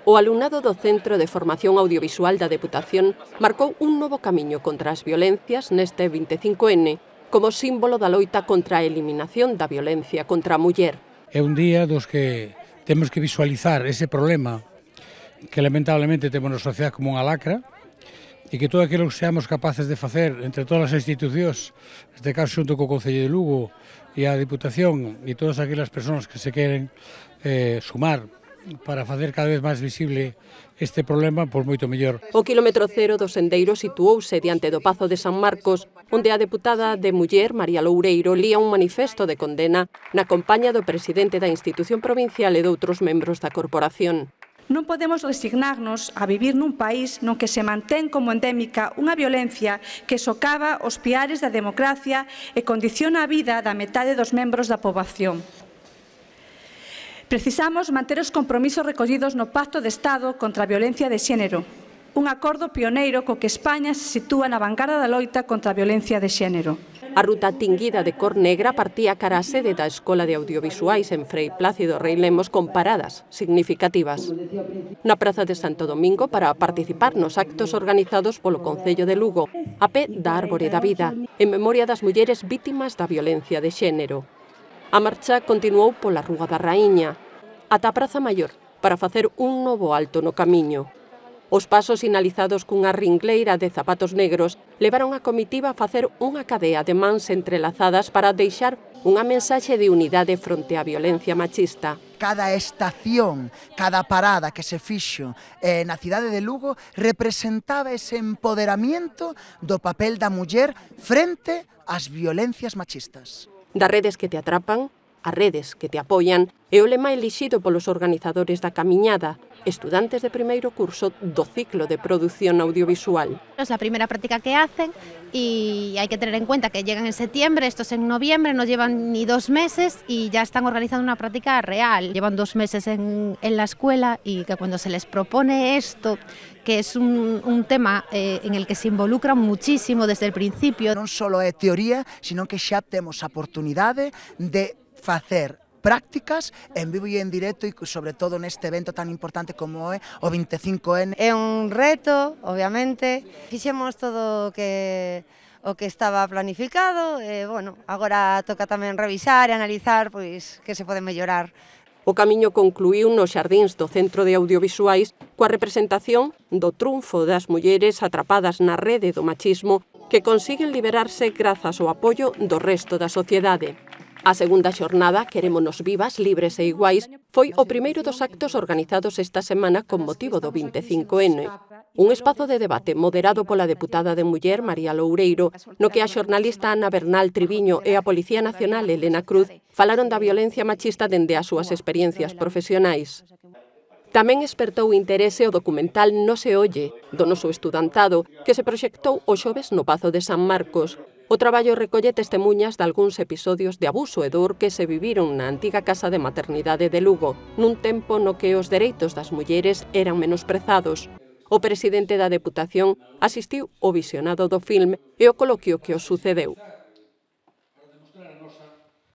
O alumnado do Centro de Formación Audiovisual da Deputación marcou un novo camiño contra as violencias neste 25N como símbolo da loita contra a eliminación da violencia contra a muller. É un día dos que temos que visualizar ese problema que lamentablemente temos na sociedade como unha lacra e que todo aquilo que seamos capaces de facer entre todas as institucións, neste caso xunto co Concello de Lugo e a Deputación e todas aquelas persoas que se queren sumar para facer cada vez máis visible este problema, pois moito mellor. O quilómetro cero do sendeiro situouse diante do Pazo de San Marcos, onde a deputada de Muller, María Loureiro, lía un manifesto de condena na compaña do presidente da institución provincial e doutros membros da corporación. Non podemos resignarnos a vivir nun país non que se mantén como endémica unha violencia que socava os piares da democracia e condiciona a vida da metade dos membros da poboación. Precisamos manter os compromisos recollidos no Pacto de Estado contra a violencia de xénero, un acordo pioneiro co que España se sitúa na vanguarda da loita contra a violencia de xénero. A ruta tinguida de cor negra partía cara a sede da Escola de Audiovisuais en Frei Plácido Rei Lemos con paradas significativas. Na Praza de Santo Domingo para participar nos actos organizados polo Concello de Lugo, a pé da Árbore da Vida, en memoria das mulleres vítimas da violencia de xénero. A marcha continuou pola Rúa da Raíña, ata a Praza Maior, para facer un novo alto no camiño. Os pasos sinalizados cunha ringleira de zapatos negros levaron a comitiva a facer unha cadea de mans entrelazadas para deixar unha mensaxe de unidade fronte á violencia machista. Cada estación, cada parada que se fixo na cidade de Lugo representaba ese empoderamento do papel da muller frente ás violencias machistas. Das redes que te atrapan, as redes que te apoian é o lema elixido polos organizadores da camiñada, estudantes de primeiro curso do ciclo de produción audiovisual. Es la primera práctica que hacen y hay que tener en cuenta que llegan en septiembre, estos en noviembre, no llevan ni 2 meses y ya están organizando una práctica real. Llevan 2 meses en la escuela y que cuando se les propone esto, que es un tema en el que se involucran muchísimo desde el principio. Non só é teoría, sino que xa temos a oportunidade de facer prácticas en vivo e en directo e sobre todo neste evento tan importante como é o 25N. É un reto, obviamente, fixemos todo o que estaba planificado e, bueno, agora toca tamén revisar e analizar pois que se pode mellorar. O camiño concluíu nos xardíns do Centro de Audiovisuais coa representación do triunfo das mulleres atrapadas na rede do machismo que consiguen liberarse grazas ao apoio do resto da sociedade. A segunda xornada, Querémonos vivas, libres e iguais, foi o primeiro dos actos organizados esta semana con motivo do 25N. Un espazo de debate moderado pola deputada de Muller, María Loureiro, no que a xornalista Ana Bernal Triviño e a Policía Nacional, Elena Cruz, falaron da violencia machista dende as súas experiencias profesionais. Tamén espertou interese o documental No se oye, do noso estudantado, que se proxectou o xoves no Pazo de San Marcos. O traballo recolle testemunhas de algúns episodios de abuso e dor que se viviron na antiga casa de maternidade de Lugo, nun tempo no que os dereitos das mulleres eran menosprezados. O presidente da Deputación asistiu ao visionado do filme e o coloquio que os sucedeu.